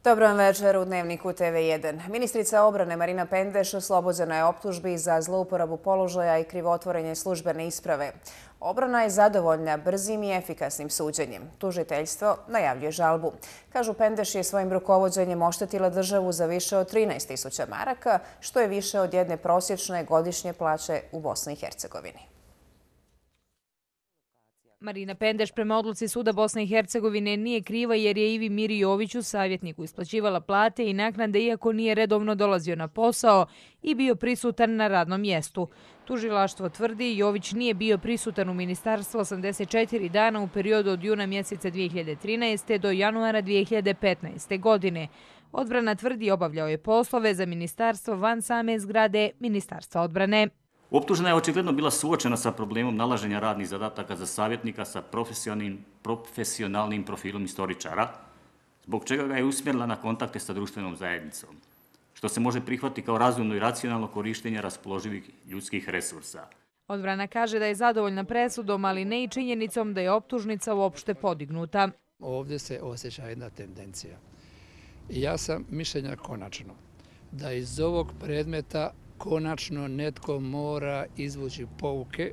Dobro vam večer u Dnevniku TV1. Ministrica obrane Marina Pendeš oslobođena je optužbi za zlouporabu položaja i krivotvorenje službene isprave. Obrana je zadovoljna brzim i efikasnim suđenjem. Tužiteljstvo najavljuje žalbu. Kažu, Pendeš je svojim rukovođenjem oštetila državu za više od 13.000 maraka, što je više od jedne prosječne godišnje plaće u Bosni i Hercegovini. Marina Pendeš prema odluci Suda Bosne i Hercegovine nije kriva jer je Ivi Miri Joviću, savjetniku, isplaćivala plate i naknade iako nije redovno dolazio na posao i bio prisutan na radnom mjestu. Tužilaštvo tvrdi Jović nije bio prisutan u ministarstvu 84 dana u periodu od juna mjeseca 2013. do januara 2015. godine. Odbrana tvrdi obavljao je poslove za ministarstvo van same zgrade Ministarstva odbrane. Optužena je očigledno bila suočena sa problemom nalaženja radnih zadataka za savjetnika sa profesionalnim profilom istoričara, zbog čega ga je usmjerila na kontakte sa društvenom zajednicom, što se može prihvatiti kao razumno i racionalno korištenje raspoloživih ljudskih resursa. Odbrana kaže da je zadovoljna presudom, ali ne i činjenicom da je optužnica uopšte podignuta. Ovdje se osjeća jedna tendencija. Ja sam mišljenja konačno da iz ovog predmeta konačno netko mora izvući pouke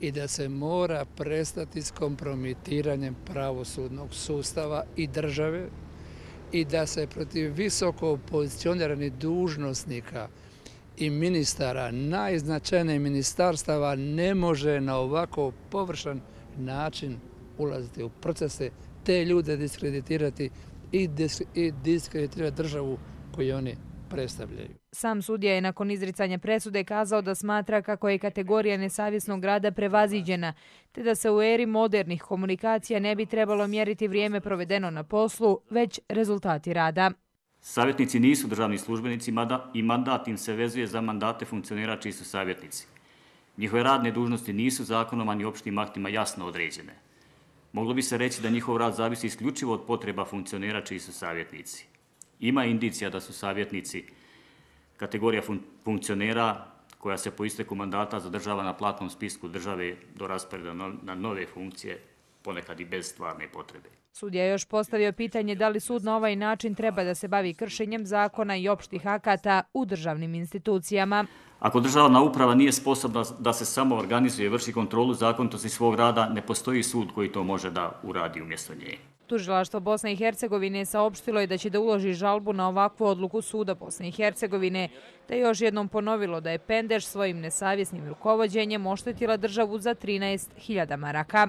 i da se mora prestati s kompromitiranjem pravosudnog sustava i države i da se protiv visoko pozicioniranih dužnosnika i ministara najznačajnijih ministarstava ne može na ovako površan način ulaziti u procese, te ljude diskreditirati i diskreditirati državu koju oni predstavljaju. Sam sudija je nakon izricanja presude kazao da smatra kako je kategorija nesavjesnog rada prevaziđena, te da se u eri modernih komunikacija ne bi trebalo mjeriti vrijeme provedeno na poslu, već rezultati rada. Savjetnici nisu državni službenici i mandat im se vezuje za mandate funkcionera čiji su savjetnici. Njihove radne dužnosti nisu zakonom ani opštim aktima jasno određene. Moglo bi se reći da njihov rad zavisi isključivo od potreba funkcionera čiji su savjetnici. Ima indicija da su savjetnici kategorija funkcionera koja se po isteku mandata zadržava na platnom spisku države do rasporeda na nove funkcije, ponekad i bez stvarne potrebe. Sudija je još postavio pitanje da li sud na ovaj način treba da se bavi kršenjem zakona i opštih akata u državnim institucijama. Ako državna uprava nije sposobna da se samo organizuje i vrši kontrolu zakonitosti svog rada, ne postoji sud koji to može da uradi umjesto nje. Tužilaštvo Bosne i Hercegovine saopštilo je da će da uloži žalbu na ovakvu odluku Suda Bosne i Hercegovine, te još jednom ponovilo da je Pendeš svojim nesavjesnim rukovođenjem oštetila državu za 13.000 maraka.